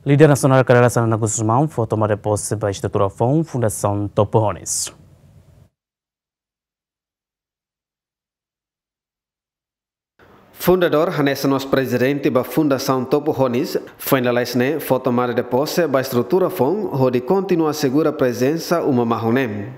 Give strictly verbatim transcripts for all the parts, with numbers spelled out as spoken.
Líder nasionál Kay Rala Xanana Gusmão fó tomada de pose ba estrutura foun Fundasaun Topo Honis. Fundadór hanesan mós prezidente ba Fundasaun Topo Honis, foin lalais ne'e fó tomada de pose ba estrutura foun hodi kontinua asegura prezensa uma mahon ne'e.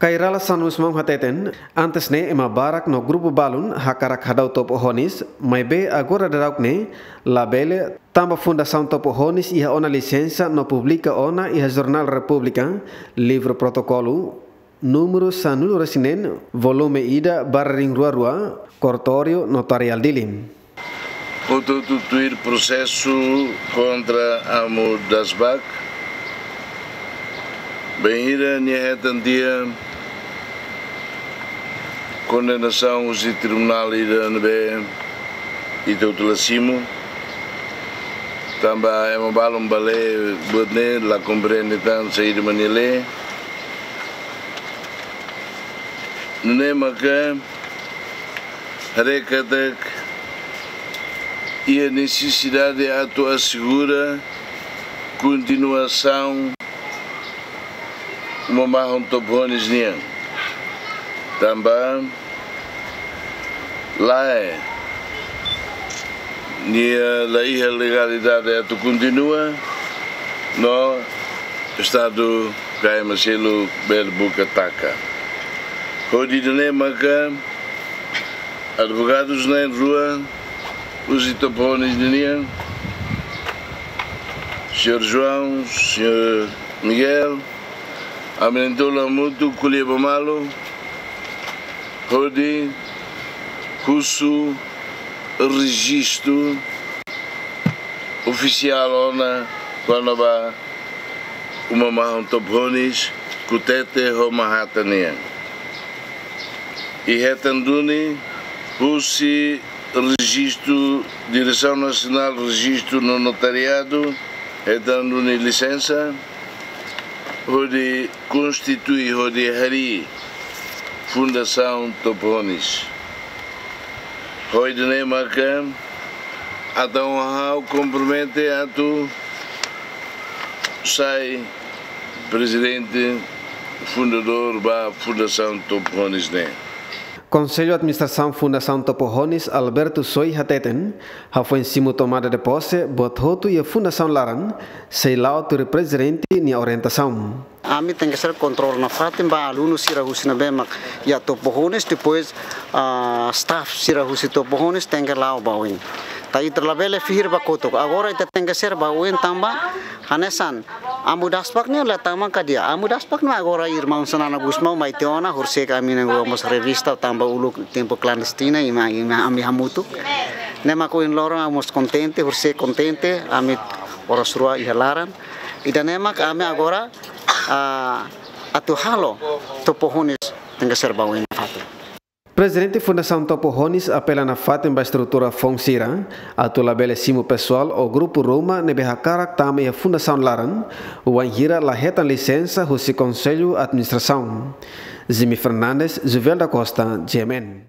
Kay Rala Xanana Gusmão hateten, antes ne'e ema barak no grupu balun hakarak hadau Topo Honis, maibé agora daudauk ne'e labele, tanba Fundasaun Topo Honis iha ona lisensa no publika ona iha Jornál Repúblika, livru protokolu, númeru sanulu-resin-neen, volume ida, barra rihun rua rua, kortóriu notariál Dili. Hotu-hotu tuir prosesu kontra Amu Dasbak, bainhira nia hetan tiha kondenasaun husi tribunál ida ne'ebé ita hotu la simu, tanba ema balun bele buat ne'e la komprende tan saida mak nia lee. Nune'e maka haree katak iha nesesidade atu asegura kontinuasaun uma mahon Topo Honis nian. Tanba lae, nia la iha legalidade atu kontinua, no Estadu Kay Marcelo bele buka taka. Hodi nune'e maka advogadus na'in-rua husi Topo Honis ninian, señór João, señór Miguel, ami na'in-tolu hamutuk ko'alia ba malu hodi husu rejistu ofisiál ona kona-ba uma mahon Topo Honis, Kutete ho Mahata nian. I hetan duni husi rejistu, Diresaun Nasionál Rejistu no Notariadu, hetan duni lisensa hodi konstitui, hodi harii Fundasaun Topo Honis. Hodi nune'e maka entaun ha'u kompromete atu sai prezidente fundadór ba Fundasaun Topo Honis ne'e. Konsellu Administrasaun Fundasaun Topo Honis, Alberto Soy hateten, hafoin simu tomada de pose, buat hotu iha Fundasaun laran sei la'o tuir prezidente nia orientasaun. Ami tenke ser kontrola nafatin ba alunu sira husi ne'ebé mak iha Topo Honis, depois, ah, staff sira husi Topo Honis tenke la'o ba oin. Tanba ita labele fihir ba kotuk. Agora ita tenke ser ba oin tanba hanesan Amu Dasbak ne'e la tama ka di'ak. Amu Dasbak ne'e agora irmaun Xanana Gusmão mai tiha ona, horisehik ami-nia rua mós revista tanba uluk tempu klandestina, ema, ema ami hamutuk. Ne'e mak ohin loron ami mós kontente, horisehik kontente, ami oras rua iha laran. Ida-ne'e mak ami agora, ah, atu halo Topo Honis tenke ser ba oin nafatin. Prezidente Fundasaun Topo Honis apela nafatin ba estrutura foun sira atu labele simu pesoál ou grupu ruma ne'ebé hakarak tama iha Fundasaun laran, wainhira la hetan lisensa husi Konsellu Administrasaun. Jimmy Fernandes, Juvel da Costa, G M N.